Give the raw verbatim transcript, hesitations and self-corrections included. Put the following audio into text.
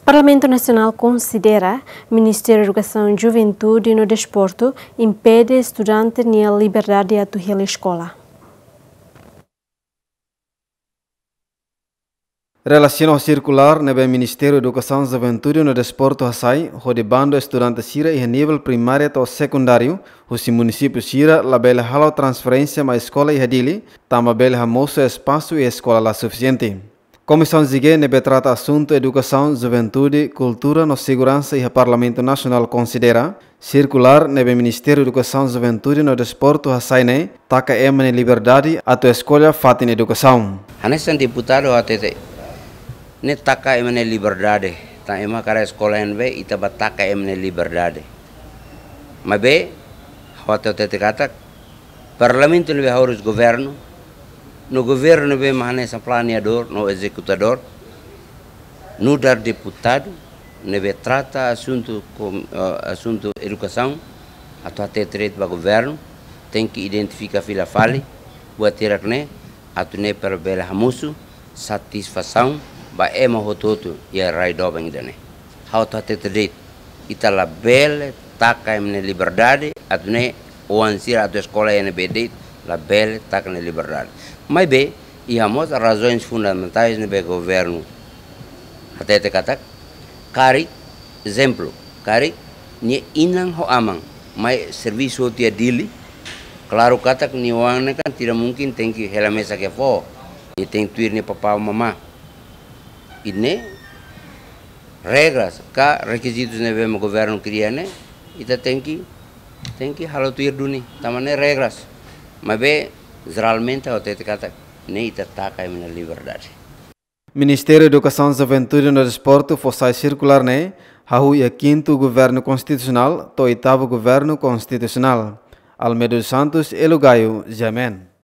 Parlamentu Nasionál konsidera Ministériu Edukasaun, Juventude no Desportu impede estudante nia liberdade atu hela eskola. Relasiona ho sirkulár ne'ebé Ministériu Edukasaun, Juventude no Desportu hasai, hodi bandu estudante sira iha nivel primária to'o sekundáriu husi munisípiu sira labele halo transferénsia mai eskola iha Dili, tanba bele hamosu espasu iha eskola la sufisiente. Komisaun G ne'ebé trata asuntu edukasaun, juventude, kultura no seguransa iha Parlamentu Nasionál konsidera sirkulár ne'ebé Ministériu Edukasaun, Juventude no Desportu hasai ne'e taka ema nia liberdade atu eskolla fatin edukasaun. Hanesan deputadu hatete, ne'e taka ema nia liberdade, tanba ema hakarak eskola iha ne'ebé, ita bá taka ema nia liberdade. Maibé, ha'u hatete katak, Parlamentu ne'ebé haurus governu, no governu ne'ebé mak hanesan planeadór no ezekutadór, nu'udar deputadu ne'ebé trata asuntu kom-, eh, asuntu edukasaun, atu hatete de'it ba governu, tenke identifika fila fali buat hirak ne'e, atu nune'e para bele hamosu satisfasaun ba ema hotu-hotu iha rai doben ida-ne'e. Ha'u atu hatete de'it, ita labele taka ema nia liberdade, atu nune'e oan sira atu eskola iha ne'ebé de'it, labele taka nia liberdade. Maibé, iha mós razoens fundamentais ne'ebé governu hatete katak, karik, ezemplu, karik nia inan ho aman mai servisu hotu iha Dili, klaru katak nia oan ne'e kan tidak mungkin tenke hela mesak iha foho, nia tenke tuir nia papá mamá. Ida-ne'e regras ka rekizitus ne'ebé mak governu kria ne'e, ita tenke, tenke halo tuir duni, tanba ne'e regras. Maibé, jeralmente, ha'u hatete katak, ne'e ita taka ema nia liberdade. Ministériu Edukasaun, Juventude no Desportu fó sai sirkulár ne'e hahú iha kintu governu konstitusionál to'o oitavu governu konstitusionál. Almeida dos Santos, Elo Gaio, G M N.